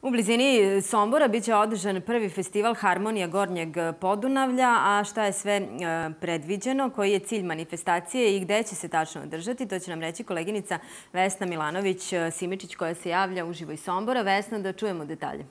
U blizini Sombora biće održan prvi festival Harmonija Gornjeg Podunavlja, a šta je sve predviđeno, koji je cilj manifestacije i gde će se tačno održati, to će nam reći koleginica Vesna Milanović-Simičić koja se javlja uživo iz Sombora. Vesna, da čujemo detalje.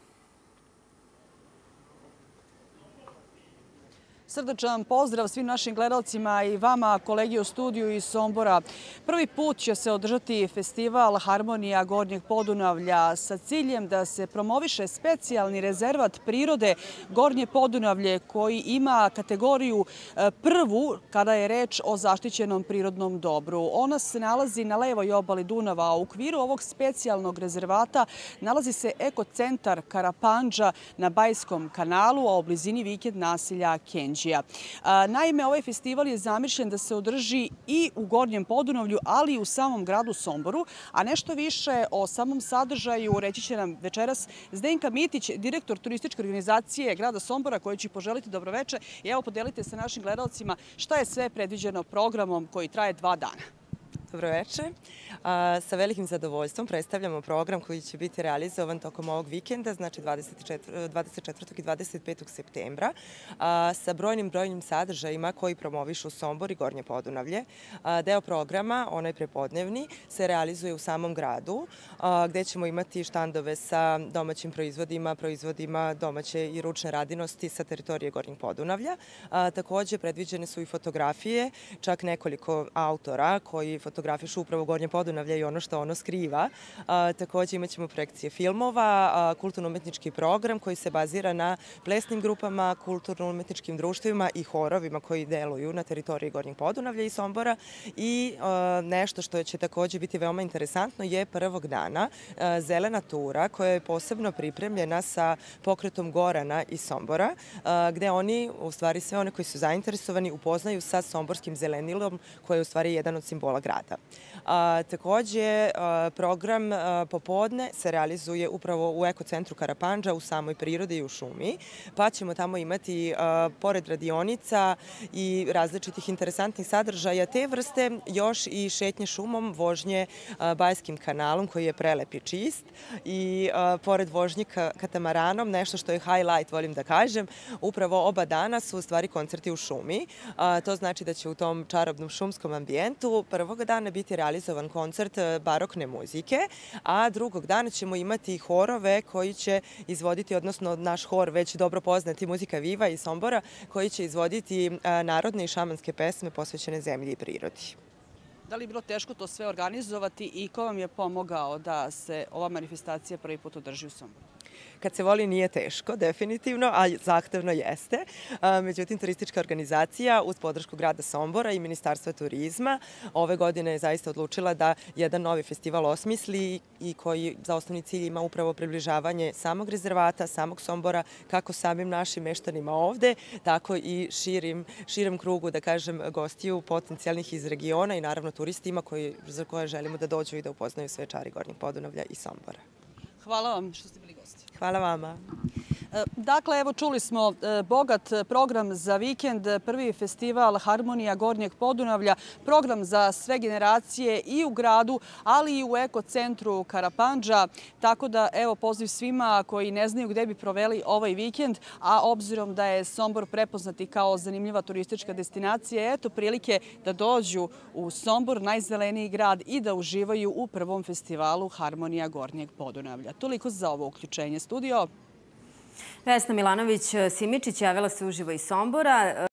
Srdačan pozdrav svim našim gledalcima i vama, kolegi u studiju iz Sombora. Prvi put će se održati festival Harmonija Gornjeg Podunavlja sa ciljem da se promoviše specijalni rezervat prirode Gornje Podunavlje koji ima kategoriju prvu kada je reč o zaštićenom prirodnom dobru. Ona se nalazi na levoj obali Dunava, a u okviru ovog specijalnog rezervata nalazi se ekocentar Karapandža na Bajskom kanalu, a u blizini vikend naselja Kenđija. Naime, ovaj festival je zamišljen da se održi i u Gornjem Podunavlju, ali i u samom gradu Somboru. A nešto više o samom sadržaju reći će nam večeras Zdenka Mitić, direktor turističke organizacije grada Sombora, koji će poželiti dobroveče. I evo, podelite sa našim gledalcima šta je sve predviđeno programom koji traje 2 dana. Dobroveče. Sa velikim zadovoljstvom predstavljamo program koji će biti realizovan tokom ovog vikenda, znači 24. i 25. septembra, sa brojnim sadržajima koji promovišu Sombor i Gornje Podunavlje. Deo programa, onaj prepodnevni, se realizuje u samom gradu, gde ćemo imati štandove sa domaćim proizvodima domaće i ručne radinosti sa teritorije Gornjeg Podunavlja. Takođe, predviđene su i fotografije, čak nekoliko autora koji fotografišu upravo Gornje Podunavlje i ono što ono skriva. Takođe imat ćemo projekcije filmova, kulturno-umetnički program koji se bazira na plesnim grupama, kulturno-umetničkim društvima i horovima koji deluju na teritoriji Gornjeg Podunavlja i Sombora. I nešto što će takođe biti veoma interesantno je prvog dana zelena tura koja je posebno pripremljena sa pokretom Gorana iz Sombora, gde oni, u stvari sve one koji su zainteresovani, upoznaju sa somborskim zelenilom koji je u stvari jedan od simbola grada. Takođe, program popodne se realizuje upravo u ekocentru Karapandža, u samoj prirodi i u šumi, pa ćemo tamo imati, pored radionica i različitih interesantnih sadržaja te vrste, još i šetnje šumom, vožnje Bajskim kanalom koji je prelep i čist i pored vožnje katamaranom, nešto što je highlight, volim da kažem, upravo oba dana su u stvari koncerti u šumi. To znači da će u tom čarobnom šumskom ambijentu prvog dana biti realizovan koncert barokne muzike, a drugog dana ćemo imati horove koji će izvoditi, odnosno naš hor već dobro poznati Muzika Viva iz Sombora, koji će izvoditi narodne i šamanske pesme posvećene zemlji i prirodi. Da li je bilo teško to sve organizovati i ko vam je pomogao da se ova manifestacija prvi put održi u Somboru? Kad se voli nije teško, definitivno, a zahtevno jeste. Međutim, turistička organizacija uz podršku grada Sombora i Ministarstva turizma ove godine je zaista odlučila da jedan novi festival osmisli i koji za osnovni cilj ima upravo približavanje samog rezervata, samog Sombora, kako samim našim meštanima ovde, tako i širem krugu, da kažem, gostiju potencijalnih iz regiona i naravno turistima za koje želimo da dođu i da upoznaju sve čari Gornjeg Podunavlja i Sombora. Hvala vam što ste bili gosti. Hvala vama. Dakle, evo čuli smo bogat program za vikend, prvi festival Harmonija Gornjeg Podunavlja, program za sve generacije i u gradu, ali i u ekocentru Karapandža. Tako da, evo, poziv svima koji ne znaju gde bi proveli ovaj vikend, a obzirom da je Sombor prepoznati kao zanimljiva turistička destinacija, eto prilike da dođu u Sombor, najzeleniji grad, i da uživaju u prvom festivalu Harmonija Gornjeg Podunavlja. Toliko za ovo uključenje. Studio. Vesna Milanović-Simičić javila se uživo iz Sombora.